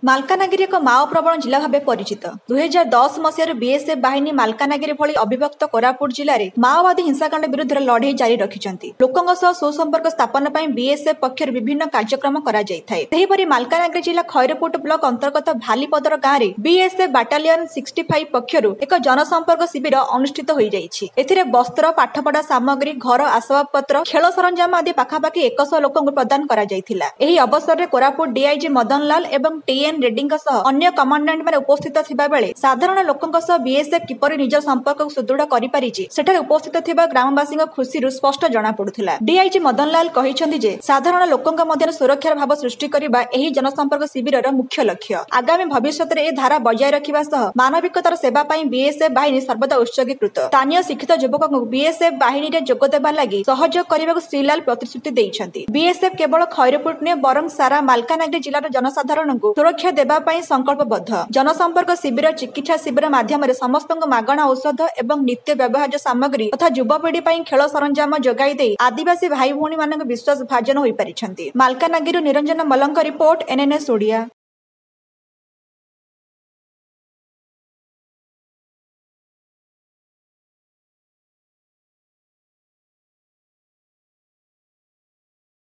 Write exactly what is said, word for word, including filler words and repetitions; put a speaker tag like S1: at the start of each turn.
S1: ମାଲକାନଗିରି ଏକ ମାଓ ପ୍ରବଣ ଜିଲ୍ଲା ଭାବେ ପରିଚିତ। ଦୁଇହଜାର ଦଶ ମସିହାରୁ ବିଏସ୍ଏଫ୍ ବାହିନୀ ମାଲକାନଗିରି ଭଳି ଅବିଭକ୍ତ କୋରାପୁଟ ଜିଲ୍ଲାରେ ମାଓବାଦୀ ହିଂସାକାଣ୍ଡ ବିରୁଦ୍ଧରେ ଲଢ଼େଇ ଜାରି ରଖିଛନ୍ତି। ଲୋକଙ୍କ ସହ ସୁସମ୍ପର୍କ ସ୍ଥାପନ ପାଇଁ ବିଏସ୍ଏଫ୍ ପକ୍ଷରୁ ବିଭିନ୍ନ କାର୍ଯ୍ୟକ୍ରମ କରାଯାଇଥାଏ। ସେହିପରି ମାଲକାନଗିରି ଜିଲ୍ଲା ଖଇରପୁଟ ବ୍ଲକ ଅନ୍ତର୍ଗତ ଭାଲିପଦର ଗାଁରେ ବିଏସ୍ଏଫ୍ ବାଟାଲିୟନ ସିକ୍ସଟି ଫାଇଭ ପକ୍ଷରୁ ଏକ ଜନସମ୍ପର୍କ ଶିବିର ଅନୁଷ୍ଠିତ ହୋଇଯାଇଛି। ଏଥିରେ ବସ୍ତ୍ର, ପାଠପଢ଼ା ସାମଗ୍ରୀ, ଘର ଆସବାବପତ୍ର, ଖେଳ ସରଞ୍ଜାମ ଆଦି ପାଖାପାଖି ଏକଶହ ଲୋକଙ୍କୁ ପ୍ରଦାନ କରାଯାଇଥିଲା। ଏହି ଅବସରରେ କୋରାପୁଟ ଡିଆଇଜି ମଦନଲାଲ ଏବଂ ଟିଏନ୍ ରେଡ୍ଡୀଙ୍କ ସହ ଅନ୍ୟ କମାଣ୍ଡାଣ୍ଟମାନେ ଉପସ୍ଥିତ ଥିବାବେଳେ ସାଧାରଣ ଲୋକଙ୍କ ସହ ବିଏସ୍ଏଫ୍ କିପରି ନିଜ ସମ୍ପର୍କକୁ ସୁଦୃଢ଼ କରିପାରିଛି, ସେଠାରେ ଉପସ୍ଥିତ ଥିବା ଗ୍ରାମବାସୀଙ୍କ ଖୁସିରୁ ସ୍ପଷ୍ଟ ଜଣାପଡୁଥିଲା। ଡିଆଇଜି ମଦନଲାଲ କହିଛନ୍ତି ଯେ ସାଧାରଣ ଲୋକଙ୍କ ମଧ୍ୟରେ ସୁରକ୍ଷାର ଭାବ ସୃଷ୍ଟି କରିବା ଏହି ଜନସମ୍ପର୍କ ଶିବିରର ମୁଖ୍ୟ ଲକ୍ଷ୍ୟ। ଆଗାମୀ ଭବିଷ୍ୟତରେ ଏ ଧାରା ବଜାୟ ରଖିବା ସହ ମାନବିକତାର ସେବା ପାଇଁ ବିଏସ୍ଏଫ୍ ବାହିନୀ ସର୍ବଦା ଉତ୍ସର୍ଗୀକୃତ। ସ୍ଥାନୀୟ ଶିକ୍ଷିତ ଯୁବକଙ୍କୁ ବିଏସ୍ଏଫ୍ ବାହିନୀରେ ଯୋଗଦେବା ଲାଗି ସହଯୋଗ କରିବାକୁ ଶ୍ରୀଲାଲ ପ୍ରତିଶ୍ରୁତି ଦେଇଛନ୍ତି। ବିଏସ୍ଏଫ୍ କେବଳ ଖଇରପୁଟ ନୁହେଁ, ବରଂ ସାରା ମାଲକାନଗିରି ଜିଲ୍ଲାର ଜନସାଧାରଣଙ୍କୁ ସୁରକ୍ଷା ଦେବା ପାଇଁ ସଂକଳ୍ପବଦ୍ଧ। ଜନସମ୍ପର୍କ ଶିବିର, ଚିକିତ୍ସା ଶିବିର ମାଧ୍ୟମରେ ସମସ୍ତଙ୍କୁ ମାଗଣା ଔଷଧ ଏବଂ ନିତ୍ୟ ବ୍ୟବହାର୍ଯ୍ୟ ସାମଗ୍ରୀ ତଥା ଯୁବପିଢ଼ି ପାଇଁ ଖେଳ ସରଞ୍ଜାମ ଯୋଗାଇ ଦେଇ ଆଦିବାସୀ ଭାଇ ଭଉଣୀମାନଙ୍କ ବିଶ୍ୱାସ ଭାଜନ ହୋଇପାରିଛନ୍ତି। ମାଲକାନଗିରିରୁ ନିରଞ୍ଜନ ମଲ୍ଲଙ୍କ ରିପୋର୍ଟ, ଏନ୍ଏନ୍ଏସ୍ ଓଡ଼ିଆ।